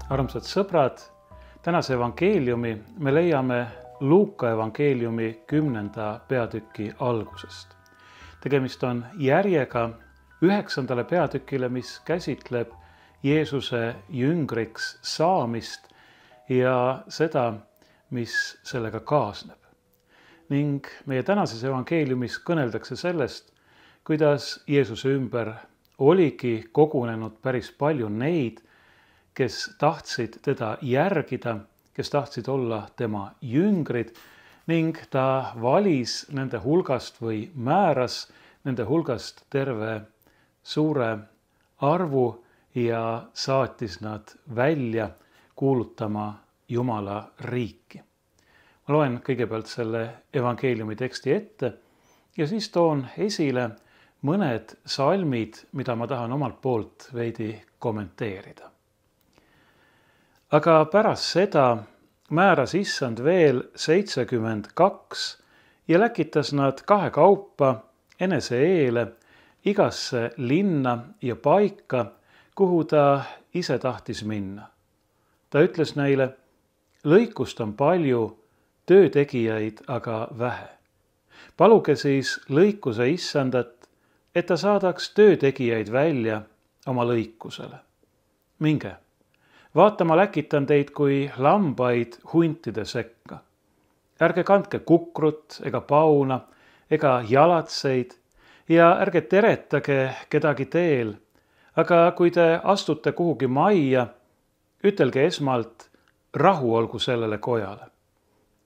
Armsad sõbrad, tänase evangeeliumi me leiame Luuka evangeeliumi 10. peatüki algusest. Tegemist on järjega 9. peatükile, mis käsitleb Jeesuse jüngriks saamist ja seda, mis sellega kaasneb. Ning meie tänases evangeeliumis kõneldakse sellest, kuidas Jeesuse ümber oligi kogunenud päris palju neid, kes tahtsid teda järgida, kes tahtsid olla tema jüngrid ning ta valis nende hulgast või määras nende hulgast terve suure arvu ja saatis nad välja kuulutama Jumala riiki. Ma loen kõigepealt selle evangeeliumi teksti ette ja siis toon esile mõned salmid, mida ma tahan omalt poolt veidi kommenteerida. Aga pärast seda määras Issand veel 72 ja läkitas nad kahekaupa enese eele igasse linna ja paika, kuhu ta ise tahtis minna. Ta ütles neile, lõikust on palju, töötegijaid aga vähe. Paluge siis lõikuse Issandat, et ta saadaks töötegijaid välja oma lõikusele. Minge, vaata, ma läkitan teid kui lambaid huntide sekka. Ärge kandke kukrut ega pauna ega jalatseid ja ärge teretage kedagi teel, aga kui te astute kuhugi majja, ütelge esmalt, rahu olgu sellele kojale.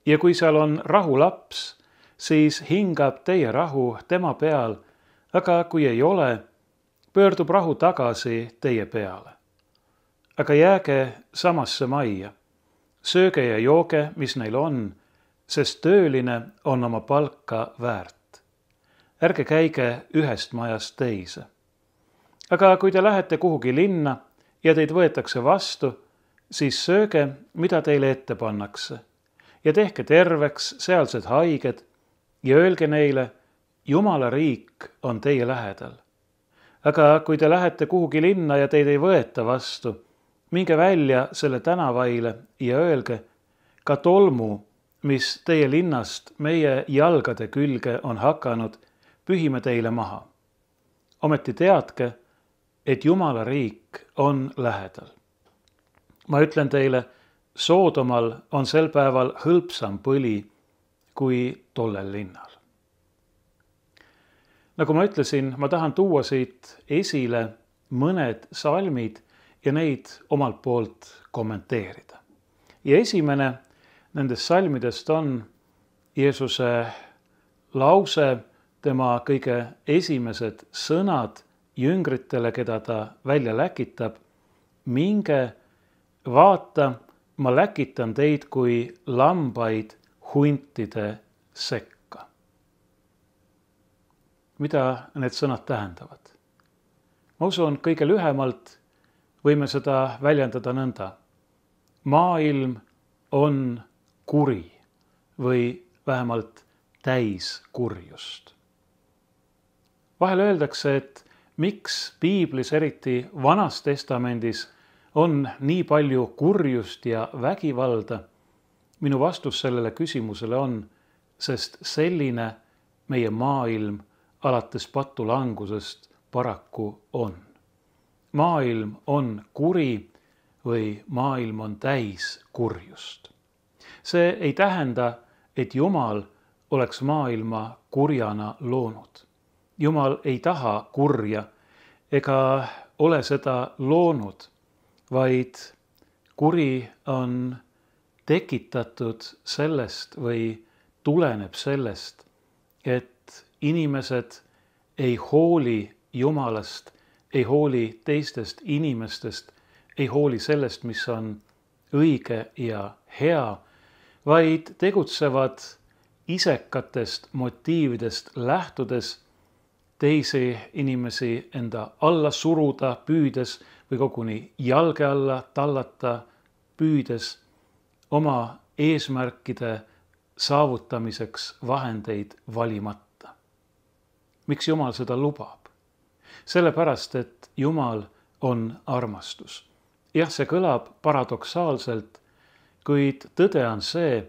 Ja kui seal on rahulaps, siis hingab teie rahu tema peal, aga kui ei ole, pöördub rahu tagasi teie peale. Aga jääge samasse majja, sööge ja jooge, mis neil on, sest tööline on oma palka väärt. Ärge käige ühest majast teise. Aga kui te lähete kuhugi linna ja teid võetakse vastu, siis sööge, mida teile ette pannakse ja tehke terveks sealsed haiged ja öelge neile, Jumala riik on teie lähedal. Aga kui te lähete kuhugi linna ja teid ei võeta vastu, minge välja selle tänavaile ja öelge, ka tolmu, mis teie linnast meie jalgade külge on hakanud, pühime teile maha. Ometi teadke, et Jumala riik on lähedal. Ma ütlen teile, Soodomal on sel päeval hõlpsam põli kui tollel linnal. Nagu ma ütlesin, ma tahan tuua siit esile mõned salmid ja neid omalt poolt kommenteerida. Ja esimene nendest salmidest on Jeesuse lause, tema kõige esimesed sõnad jüngritele, keda ta välja läkitab. Minge, vaata, ma läkitan teid kui lambaid huntide sekka. Mida need sõnad tähendavad? Ma usun, kõige lühemalt võime seda väljendada nõnda. Maailm on kuri või vähemalt täis kurjust. Vahel öeldakse, et miks piiblis, eriti Vanas Testamendis, on nii palju kurjust ja vägivalda. Minu vastus sellele küsimusele on, sest selline meie maailm alates patulangusest paraku on. Maailm on kuri või maailm on täis kurjust. See ei tähenda, et Jumal oleks maailma kurjana loonud. Jumal ei taha kurja ega ole seda loonud, vaid kuri on tekitatud sellest või tuleneb sellest, et inimesed ei hooli Jumalast, ei hooli teistest inimestest, ei hooli sellest, mis on õige ja hea, vaid tegutsevad isekatest motiividest lähtudes, teisi inimesi enda alla suruda püüdes või koguni jalge alla tallata püüdes, oma eesmärkide saavutamiseks vahendeid valimata. Miks Jumal seda lubab? Sellepärast, et Jumal on armastus. jah, see kõlab paradoksaalselt, kuid tõde on see,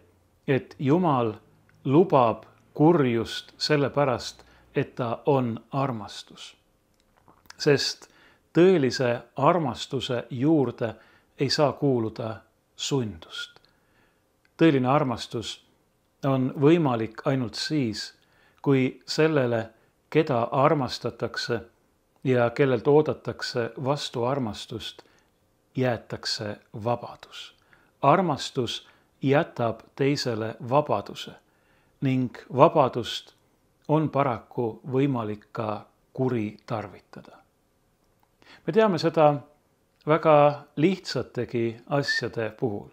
et Jumal lubab kurjust sellepärast, et ta on armastus. Sest tõelise armastuse juurde ei saa kuuluda sundust. Tõeline armastus on võimalik ainult siis, kui sellele, keda armastatakse ja kellelt oodatakse vastu armastust, jäetakse vabadus. Armastus jätab teisele vabaduse ning vabadust on paraku võimalik ka kuritarvitada. Me teame seda väga lihtsategi asjade puhul.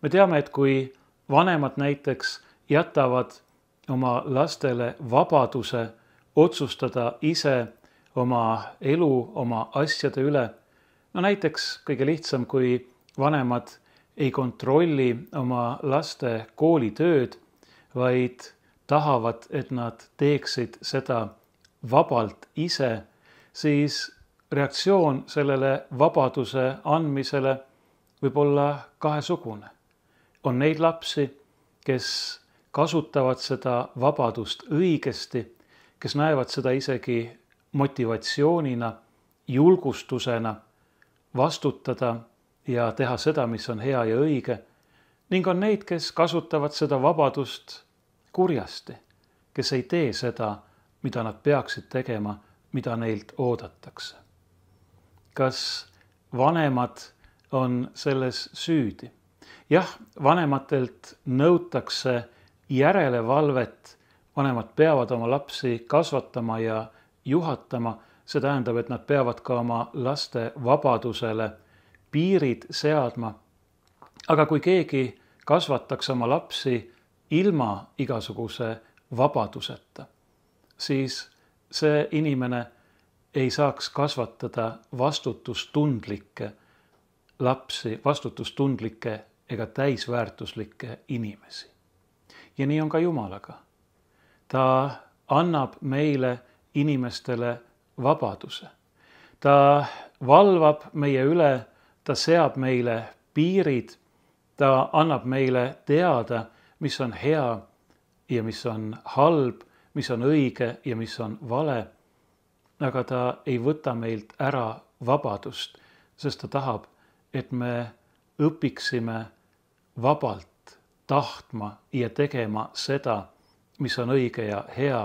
Me teame, et kui vanemad näiteks jätavad oma lastele vabaduse otsustada ise oma elu, oma asjade üle, no näiteks kõige lihtsam, kui vanemad ei kontrolli oma laste koolitööd, vaid tahavad, et nad teeksid seda vabalt ise, siis reaktsioon sellele vabaduse andmisele võib olla kahesugune. On neid lapsi, kes kasutavad seda vabadust õigesti, kes näevad seda isegi motivatsioonina, julgustusena vastutada ja teha seda, mis on hea ja õige, ning on neid, kes kasutavad seda vabadust kurjasti, kes ei tee seda, mida nad peaksid tegema, mida neilt oodatakse. Kas vanemad on selles süüdi? Jah, vanematelt nõutakse järelevalvet, vanemad peavad oma lapsi kasvatama ja juhatama, see tähendab, et nad peavad ka oma laste vabadusele piirid seadma. Aga kui keegi kasvataks oma lapsi ilma igasuguse vabaduseta, siis see inimene ei saaks kasvatada vastutustundlikke lapsi, vastutustundlikke ega täisväärtuslikke inimesi. Ja nii on ka Jumalaga. Ta annab meile inimestele vabaduse. Ta valvab meie üle, ta seab meile piirid, ta annab meile teada, mis on hea ja mis on halb, mis on õige ja mis on vale. Aga ta ei võta meilt ära vabadust, sest ta tahab, et me õpiksime vabalt tahtma ja tegema seda, mis on õige ja hea,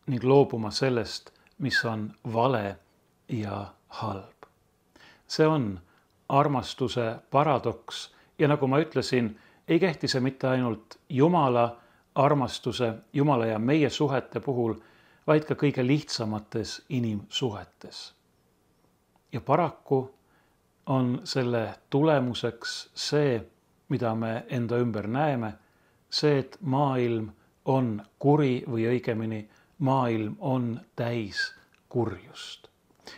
ning loobuma sellest, mis on vale ja halb. See on armastuse paradoks ja nagu ma ütlesin, ei kehti see mitte ainult Jumala armastuse, Jumala ja meie suhete puhul, vaid ka kõige lihtsamates inimsuhetes. Ja paraku on selle tulemuseks see, mida me enda ümber näeme, see, et maailm on kuri või õigemini maailm on täis kurjust.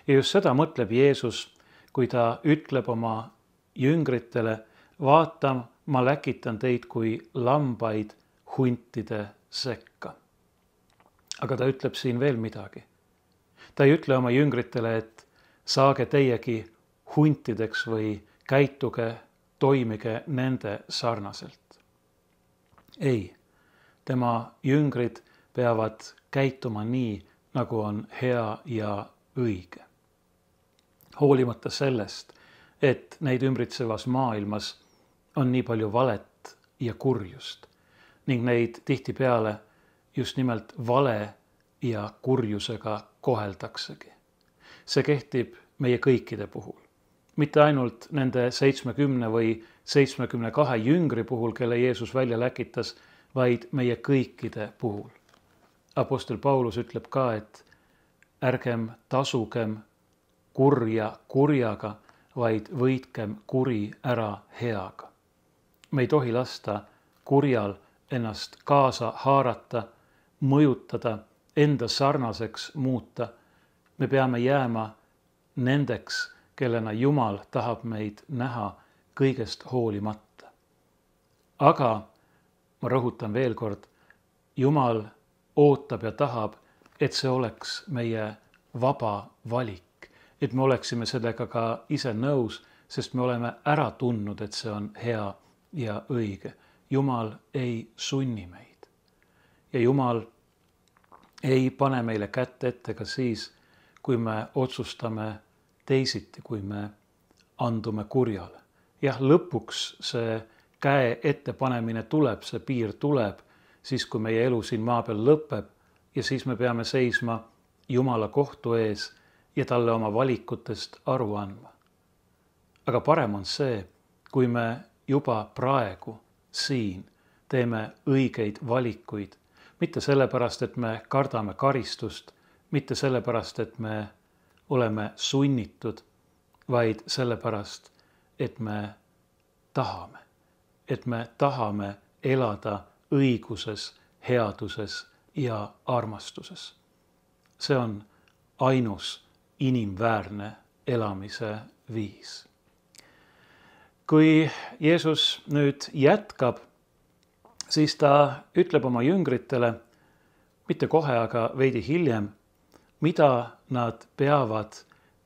Ja just seda mõtleb Jeesus, kui ta ütleb oma jüngritele, vaata, ma läkitan teid kui lambaid huntide sekka. Aga ta ütleb siin veel midagi. Ta ei ütle oma jüngritele, et saage teiegi huntideks või käituge, toimige nende sarnaselt. Ei, tema jüngrid peavad käituma nii, nagu on hea ja õige. Hoolimata sellest, et neid ümbritsevas maailmas on nii palju valet ja kurjust ning neid tihtipeale just nimelt vale ja kurjusega koheldaksegi. See kehtib meie kõikide puhul. Mitte ainult nende 70 või 72 jüngri puhul, kelle Jeesus välja läkitas, vaid meie kõikide puhul. Apostel Paulus ütleb ka, et ärgem tasugem kurja kurjaga, vaid võitkem kuri ära heaga. Me ei tohi lasta kurjal ennast kaasa haarata, mõjutada, enda sarnaseks muuta. Me peame jääma nendeks, kellena Jumal tahab meid näha kõigest hoolimata. Aga ma rõhutan veel kord, Jumal ootab ja tahab, et see oleks meie vaba valik, et me oleksime sellega ka ise nõus, sest me oleme ära tundnud, et see on hea ja õige. Jumal ei sunni meid ja Jumal ei pane meile kätt ette ka siis, kui me otsustame teisiti, kui me andume kurjale. Jah, lõpuks see käe ettepanemine tuleb, see piir tuleb, siis kui meie elu siin maa peal lõpeb ja siis me peame seisma Jumala kohtu ees ja talle oma valikutest aru andma. Aga parem on see, kui me juba praegu siin teeme õigeid valikuid, mitte sellepärast, et me kardame karistust, mitte sellepärast, et me oleme sunnitud, vaid sellepärast, et me tahame elada õiguses, headuses ja armastuses. See on ainus inimväärne elamise viis. Kui Jeesus nüüd jätkab, siis ta ütleb oma jüngritele, mitte kohe, aga veidi hiljem, mida nad peavad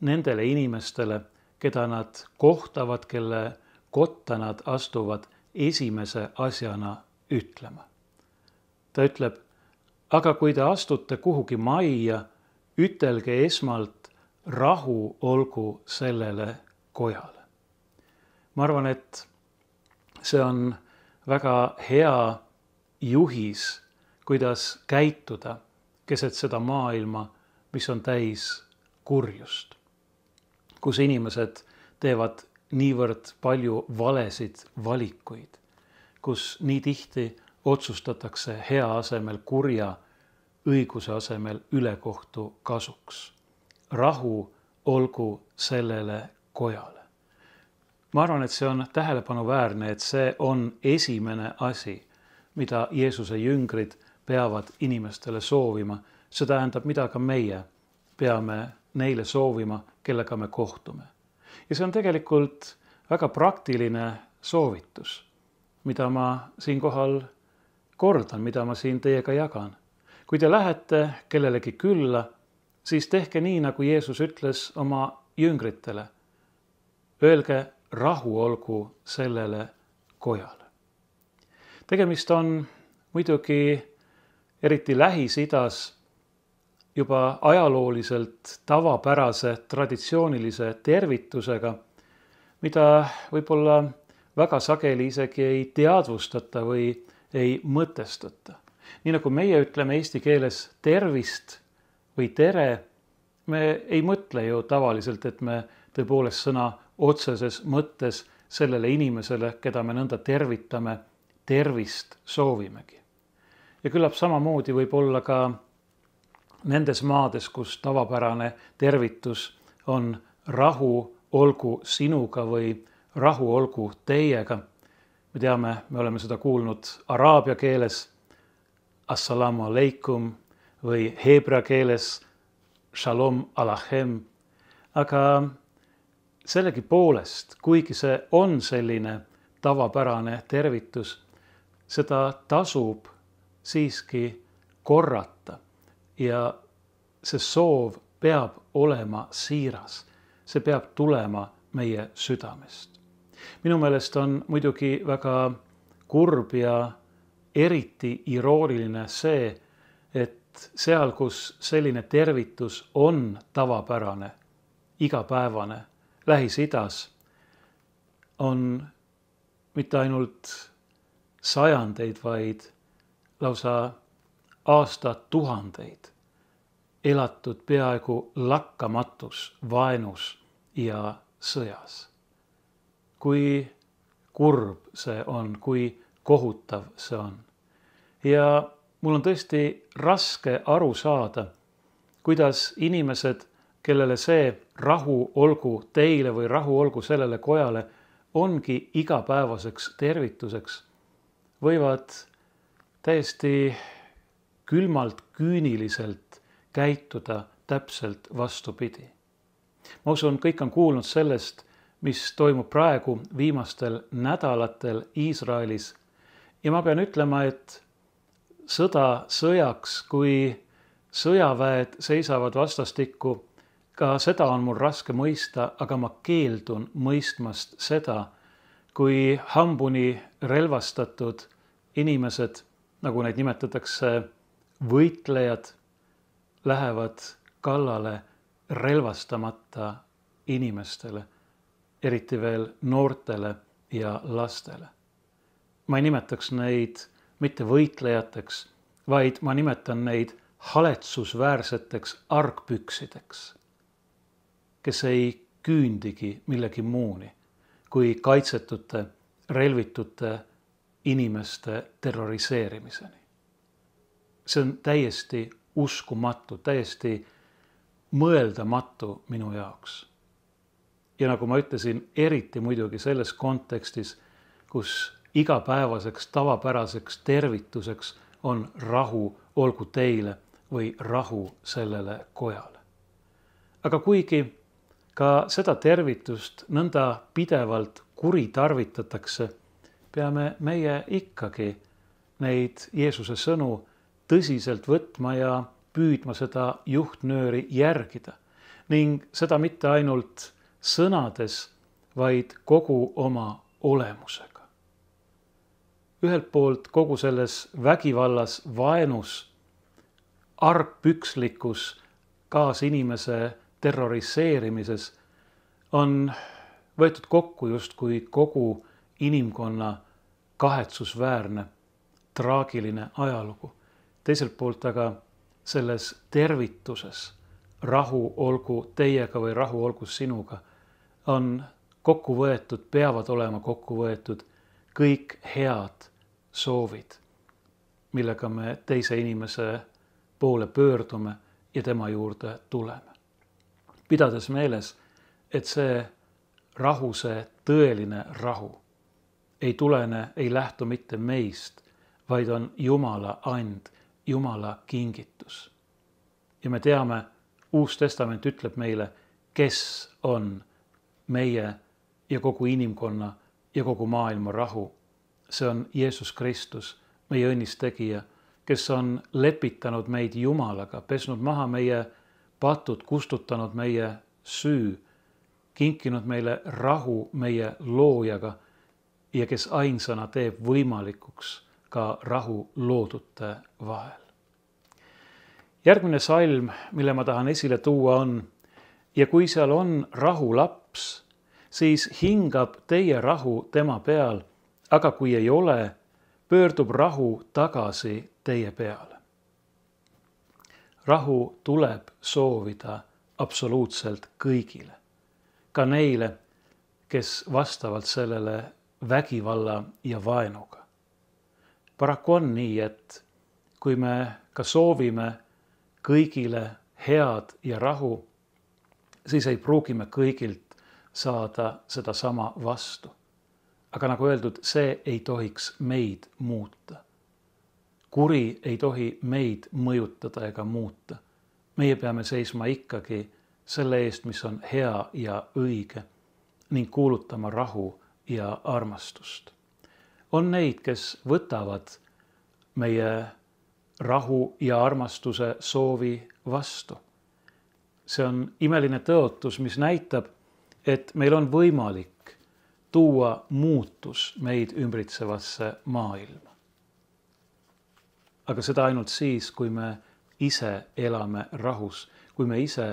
nendele inimestele, keda nad kohtavad, kelle kotta nad astuvad esimese asjana ütlema. Ta ütleb, aga kui te astute kuhugi majja, ütelge esmalt rahu olgu sellele kojale. Ma arvan, et see on väga hea juhis, kuidas käituda keset seda maailma, mis on täis kurjust, kus inimesed teevad niivõrd palju valesid valikuid, kus nii tihti otsustatakse hea asemel kurja, õiguse asemel ülekohtu kasuks. Rahu olgu sellele kojale. Ma arvan, et see on tähelepanuväärne, et see on esimene asi, mida Jeesuse jüngrid peavad inimestele soovima. See tähendab, mida ka meie peame neile soovima, kellega me kohtume. Ja see on tegelikult väga praktiline soovitus, mida ma siinkohal kordan, mida ma siin teiega jagan. Kui te lähete kellelegi külla, siis tehke nii, nagu Jeesus ütles oma jüngritele. Öelge, rahu olgu sellele kojale. Tegemist on muidugi eriti Lähis-Idas juba ajalooliselt tavapärase traditsioonilise tervitusega, mida võib-olla väga sageli isegi ei teadvustata või ei mõtestata. Nii nagu meie ütleme eesti keeles tervist või tere, me ei mõtle ju tavaliselt, et me tõepoolest sõna otseses mõttes sellele inimesele, keda me nõnda tervitame, tervist soovimegi. Ja küllap samamoodi võib olla ka nendes maades, kus tavapärane tervitus on rahu olgu sinuga või rahu olgu teiega. Me teame, me oleme seda kuulnud araabia keeles assalamu alaikum või heebrea keeles shalom alachem, aga sellegipoolest, kuigi see on selline tavapärane tervitus, seda tasub siiski korrata ja see soov peab olema siiras, see peab tulema meie südamest. Minu meelest on muidugi väga kurb ja eriti irooniline see, et seal, kus selline tervitus on tavapärane, igapäevane, Lähis-Idas on mitte ainult sajandeid, vaid lausa aastatuhandeid elatud peaaegu lakkamatus vaenus ja sõjas. Kui kurb see on, kui kohutav see on. Ja mul on tõesti raske aru saada, kuidas inimesed, kellele see rahu olgu teile või rahu olgu sellele kojale ongi igapäevaseks tervituseks, võivad täiesti külmalt, küüniliselt käituda täpselt vastupidi. Ma usun, kõik on kuulnud sellest, mis toimub praegu viimastel nädalatel Iisraelis. Ja ma pean ütlema, et sõda sõjaks, kui sõjaväed seisavad vastastikku, Ka seda on mul raske mõista, aga ma keeldun mõistmast seda, kui hambuni relvastatud inimesed, nagu neid nimetatakse, võitlejad, lähevad kallale relvastamata inimestele, eriti veel noortele ja lastele. Ma ei nimetaks neid mitte võitlejateks, vaid ma nimetan neid haletsusväärseteks argpüksideks, kes ei küündigi millegi muuni kui kaitsetute, relvitute inimeste terroriseerimiseni. See on täiesti uskumatu, täiesti mõeldamatu minu jaoks. Ja nagu ma ütlesin, eriti muidugi selles kontekstis, kus igapäevaseks tavapäraseks tervituseks on rahu olgu teile või rahu sellele kojale. Aga kuigi ka seda tervitust nõnda pidevalt kuritarvitatakse, peame meie ikkagi neid Jeesuse sõnu tõsiselt võtma ja püüdma seda juhtnööri järgida ning seda mitte ainult sõnades, vaid kogu oma olemusega. Ühelt poolt kogu selles vägivallas, vaenus, argpükslikus kaasinimese terroriseerimises on võetud kokku justkui kogu inimkonna kahetsusväärne, traagiline ajalugu. Teiselt poolt aga selles tervituses, rahu olgu teiega või rahu olgu sinuga, on kokku võetud, peavad olema kokku võetud kõik head soovid, millega me teise inimese poole pöördume ja tema juurde tuleme. Pidades meeles, et see rahu, see tõeline rahu ei tulene, ei lähtu mitte meist, vaid on Jumala and, Jumala kingitus. Ja me teame, Uus Testament ütleb meile, kes on meie ja kogu inimkonna ja kogu maailma rahu. See on Jeesus Kristus, meie õnnistegija, kes on lepitanud meid Jumalaga, pesnud maha meie patud, kustutanud meie süü, kinkinud meile rahu meie loojaga ja kes ainsana teeb võimalikuks ka rahu loodute vahel. Järgmine salm, mille ma tahan esile tuua on: ja kui seal on rahulaps, siis hingab teie rahu tema peal, aga kui ei ole, pöördub rahu tagasi teie peale. Rahu tuleb soovida absoluutselt kõigile, ka neile, kes vastavalt sellele vägivalla ja vaenuga. Paraku on nii, et kui me ka soovime kõigile head ja rahu, siis ei pruugi me kõigilt saada seda sama vastu. Aga nagu öeldud, see ei tohiks meid muuta. Kuri ei tohi meid mõjutada ega muuta. Meie peame seisma ikkagi selle eest, mis on hea ja õige ning kuulutama rahu ja armastust. On neid, kes võtavad meie rahu ja armastuse soovi vastu. See on imeline tõotus, mis näitab, et meil on võimalik tuua muutus meid ümbritsevasse maailma. Aga seda ainult siis, kui me ise elame rahus, kui me ise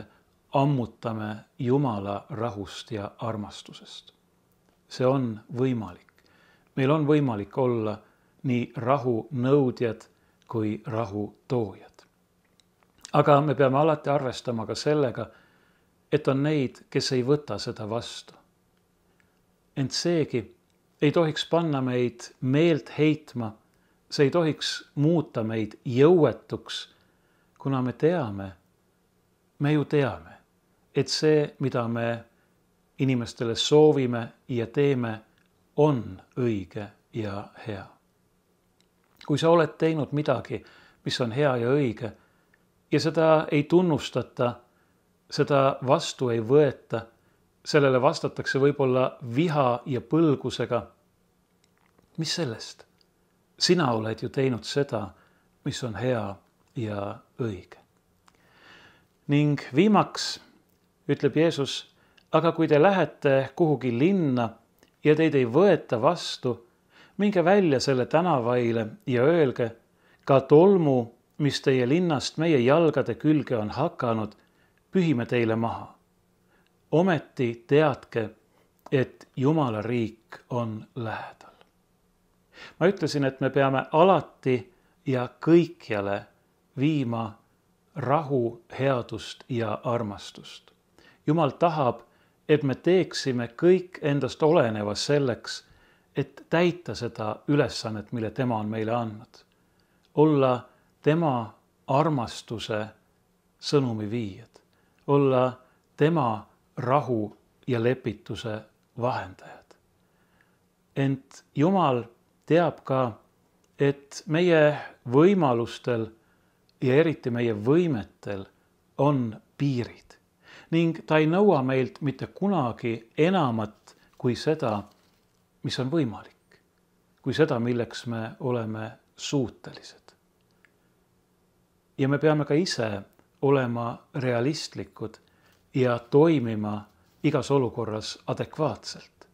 ammutame Jumala rahust ja armastusest. See on võimalik. Meil on võimalik olla nii rahu nõudjad kui rahu toojad. Aga me peame alati arvestama ka sellega, et on neid, kes ei võta seda vastu. Ent seegi ei tohiks panna meid meelt heitma, see ei tohiks muuta meid jõuetuks, kuna me ju teame, et see, mida me inimestele soovime ja teeme, on õige ja hea. Kui sa oled teinud midagi, mis on hea ja õige, ja seda ei tunnustata, seda vastu ei võeta, sellele vastatakse võib-olla viha ja põlgusega, mis sellest? Sina oled ju teinud seda, mis on hea ja õige. Ning viimaks ütleb Jeesus, aga kui te lähete kuhugi linna ja teid ei võeta vastu, minge välja selle tänavaile ja öelge, ka tolmu, mis teie linnast meie jalgade külge on hakanud, pühime teile maha. Ometi teadke, et Jumala riik on lähedal. Ma ütlesin, et me peame alati ja kõikjale viima rahu, headust ja armastust. Jumal tahab, et me teeksime kõik endast oleneva selleks, et täita seda ülesannet, mille tema on meile andnud. Olla tema armastuse sõnumi viijad. Olla tema rahu ja lepituse vahendajad. Ent Jumal teab ka, et meie võimalustel ja eriti meie võimetel on piirid ning ta ei nõua meilt mitte kunagi enamat kui seda, mis on võimalik, kui seda, milleks me oleme suutelised. Ja me peame ka ise olema realistlikud ja toimima igas olukorras adekvaatselt.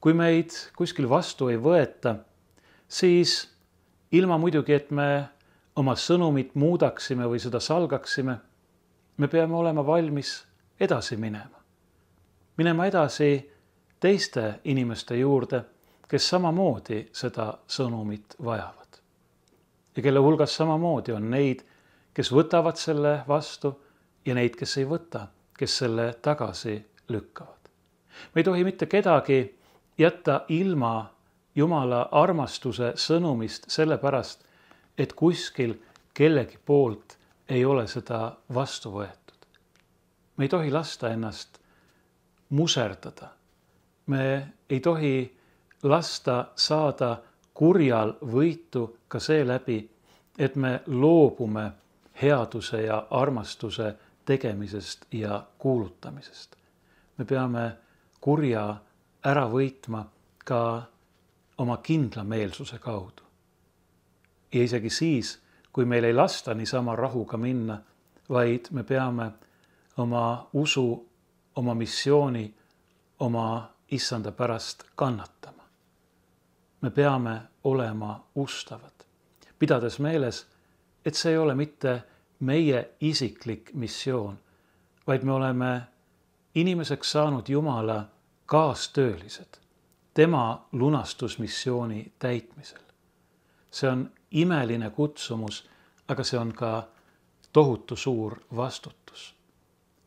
Kui meid kuskil vastu ei võeta, siis ilma muidugi, et me oma sõnumit muudaksime või seda salgaksime, me peame olema valmis edasi minema. Minema edasi teiste inimeste juurde, kes samamoodi seda sõnumit vajavad. Ja kelle hulgas samamoodi on neid, kes võtavad selle vastu ja neid, kes ei võta, kes selle tagasi lükkavad. Me ei tohi mitte kedagi jätta ilma Jumala armastuse sõnumist sellepärast, et kuskil kellegi poolt ei ole seda vastu võetud. Me ei tohi lasta ennast muserdada. Me ei tohi lasta saada kurjal võitu ka seeläbi, et me loobume headuse ja armastuse tegemisest ja kuulutamisest. Me peame kurja ära võitma ka oma kindlameelsuse kaudu. Ja isegi siis, kui meil ei lasta niisama rahuga minna, vaid me peame oma usu, oma missiooni, oma issanda pärast kannatama. Me peame olema ustavad, pidades meeles, et see ei ole mitte meie isiklik missioon, vaid me oleme inimeseks saanud Jumala kaastöölised, tema lunastusmissiooni täitmisel. See on imeline kutsumus, aga see on ka tohutu suur vastutus,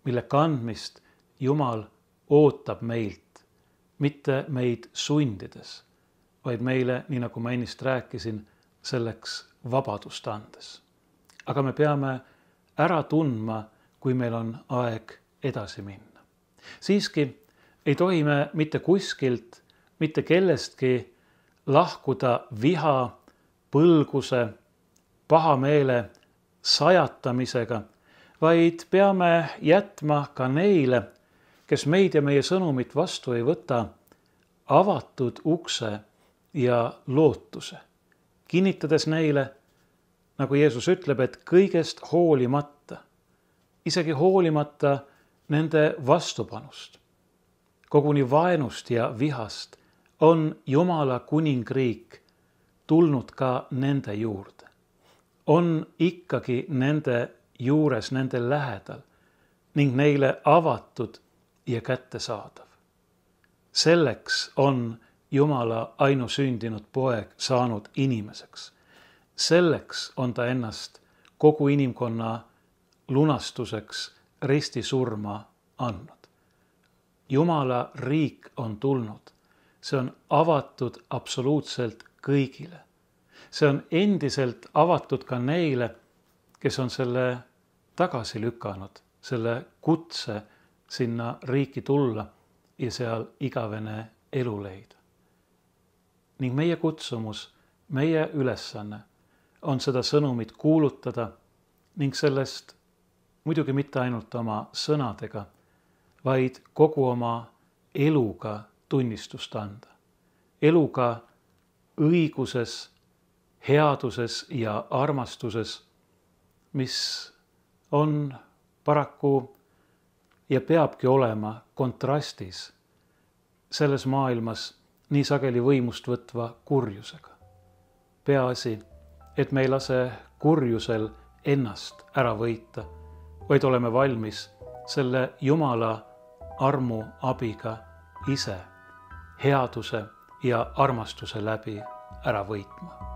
mille kandmist Jumal ootab meilt, mitte meid sundides, vaid meile, nii nagu ma ennist rääkisin, selleks vabadust andes. Aga me peame ära tundma, kui meil on aeg edasi minna. Siiski ei tohi me mitte kuskilt, mitte kellestki lahkuda viha, põlguse, pahameele, sajatamisega, vaid peame jätma ka neile, kes meid ja meie sõnumit vastu ei võta, avatud ukse ja lootuse, kinnitades neile, nagu Jeesus ütleb, et kõigest hoolimata, isegi hoolimata nende vastupanust, koguni vaenust ja vihast, on Jumala kuningriik tulnud ka nende juurde. On ikkagi nende juures, nende lähedal ning neile avatud ja kättesaadav. Selleks on Jumala ainusündinud poeg saanud inimeseks. Selleks on ta ennast kogu inimkonna lunastuseks ristisurma andnud. Jumala riik on tulnud. See on avatud absoluutselt kõigile. See on endiselt avatud ka neile, kes on selle tagasi lükanud, selle kutse sinna riiki tulla ja seal igavene elu leida. Ning meie kutsumus, meie ülesanne on seda sõnumit kuulutada ning sellest muidugi mitte ainult oma sõnadega, vaid kogu oma eluga tunnistust anda. Eluga õiguses, headuses ja armastuses, mis on paraku ja peabki olema kontrastis selles maailmas nii sageli võimust võtva kurjusega. Peaasi, et me ei lase kurjusel ennast ära võita, vaid oleme valmis selle Jumala armu abiga ise headuse ja armastuse läbi ära võitma.